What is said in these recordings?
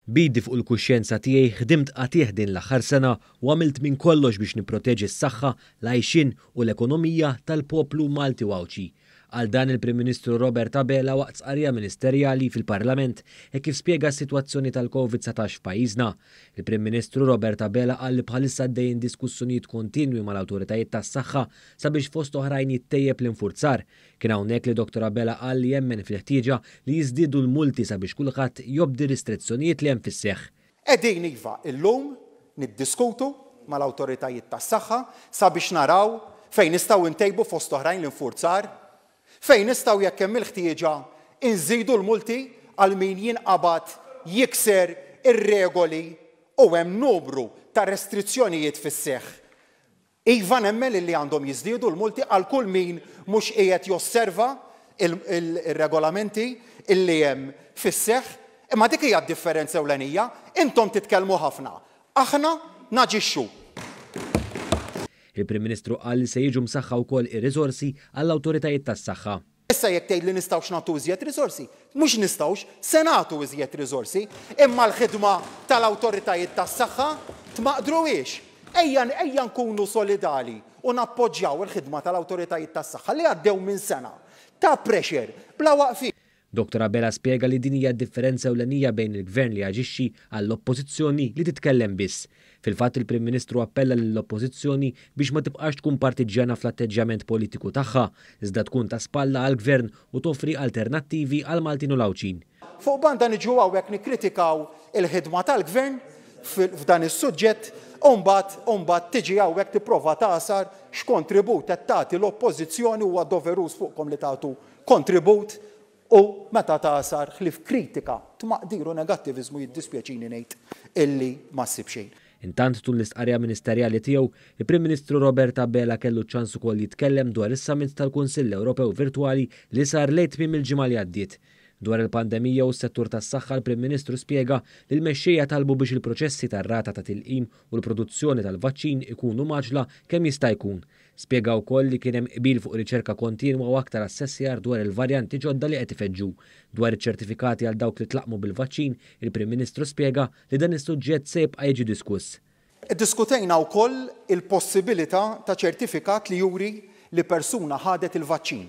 B'idi fuq il-kuxjenza tiegħi ħdimt qatigħ din l-aħħar sena u għamilt minn kollox biex nipproteġi s-saħħa, l-għajxien u l-ekonomija tal-poplu Malti u Għawdxi. Qal dan il-Prim Ministru Robert Abela waqt stqarrija ministerjali fil-Parlament hekk kif spjega s-sitwazzjoni tal-Covid 19 f'pajjiżna. Il-Prim Ministru Robert Abela qal li bħalissa għaddejjin diskussjonijiet kontinwi mal-awtoritajiet tas-saħħa sabiex fost oħrajn jittejjeb l-infurzar. Kien hawnhekk li Dottor Abela qal li jemmen fil-ħtieġa li jiżdiedu l-multi sabiex kulħadd jobdi r-ristrizzjonijiet li hemm fis-seħħ. Qegħdin iva illum niddiskutu mal-awtoritajiet tas-saħħa sabiex naraw fejn nistgħu ntejbu fost oħrajn l-infurzar, fejn nistgħu jekk hemm il-ħtieġa nżidu l-multi għal min jinqabad jikser ir-regoli u hemm numru ta' restrizzjonijiet fis-seħħ. Iva nemmen illi għandhom jiżdiedu l-multi għal kull min mhux qiegħed josserva r-regolamenti illi hemm fis-seħħ. Imma dik hija d-differenza ewlenija, intom titkellmu ħafna, aħna naġixxu. Il-Prim Ministru qal li se jiġu msaħħa wkoll ir-riżorsi għall-awtoritajiet tas-saħħa. Issa jekk tgħidli nistgħux nagħtu iżjed riżorsi, mhux nistgħux, se nagħtu iżjed riżorsi, imma l-ħidma tal-awtoritajiet tas-saħħa tmaqdruhiex. Ejja ejja nkunu solidali u nappoġġjaw il-ħidma tal-awtoritajiet tas-saħħa li għaddew minn sena ta' pressure bla waqfien. Dottor Abela spjega li din hija d-differenza ewlenija bejn il-Gvern li jaġixxi għall-Oppożizzjoni li titkellem biss. Fil-fatt il-Prim Ministru appella lill-Oppożizzjoni biex ma tibqax tkun partiġġjana fl-atteġġjament politiku tagħha, iżda tkun ta' spalla għall-Gvern u toffri alternattivi għall-Maltin u l-Għawdxin. Fuq banda niġu hawnhekk nikkritikaw il-ħidma tal-Gvern f'dan is-suġġett u mbagħad u mbagħad tiġi hawnhekk tipprova tagħsar x'kontribut qed tagħti l-Oppożizzjoni huwa doveruż fuqkom li tagħtu kontribut u meta tagħsar ħlief kritika, tmaqdir u negattiviżmu jiddispjaċini ngħid illi ma ssib xejn. Intant tul l-istqarrija ministerjali tiegħu, il-Prim Ministru Robert Abela kellu ċ-ċans ukoll jitkellem dwar is-Summit tal-Kunsill Ewropew virtwali li sar lejn tmiem il-ġimgħa li għaddiet. Dwar il-pandemija u s-settur tas-saħħa l-Prim Ministru spjega li l-mexxejja talbu biex il-proċessi tar-rata ta' tilqim u l-produzzjoni tal-vaċċin ikunu mgħaġġla kemm jista' jkun. Spjega wkoll li kien hemm qbil fuq riċerka kontinwa u aktar assessjar dwar il-varjanti ġodda li qed ifeġġu. Dwar iċ-ċertifikati għal dawk li tlaqqmu bil-vaċċin, il-Prim Ministru spjega li dan is-suġġett se jibqa' jiġi diskuss. Iddiskutejna wkoll il-possibilità ta' ċertifikat li juri li persuna ħadet il-vaċċin.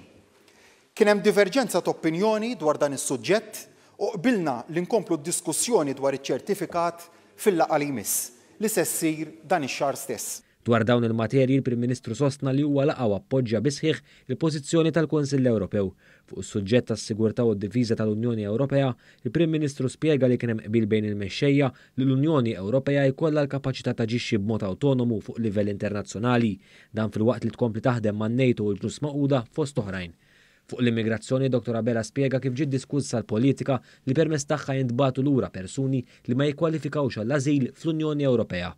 Kien hemm diverġenza t'opinjoni dwar dan is-suġġett u qbilna li nkomplu d-diskussjoni dwar iċ-ċertifikat fil-laqgħa li jmiss, li se ssir dan ix-xahar stess. Dwar dawn il-materji l-Prim Ministru sostna li huwa laqa' u appoġġja bis-sħiħ il-pożizzjoni tal-Kunsill Ewropew. Fuq is-suġġett tas-sigurtà u d-difiża tal-Unjoni Ewropea, il-Prim Ministru spjega li kien hemm qbil bejn il-mexxejja li l-Unjoni Ewropea jkollha l-kapaċità taġixxi b'mod awtonomu fuq livell internazzjonali. Dan filwaqt li tkompli taħdem man-NATO u l-Ġnus Magħquda fost oħrajn. Fuq l-immigrazzjoni, Dottor Abela spjega kif ġiet diskussa l-politika li permezz tagħha jintbagħtu lura persuni li ma jikkwalifikawx għall-ażil fl-Unjoni Ewropea.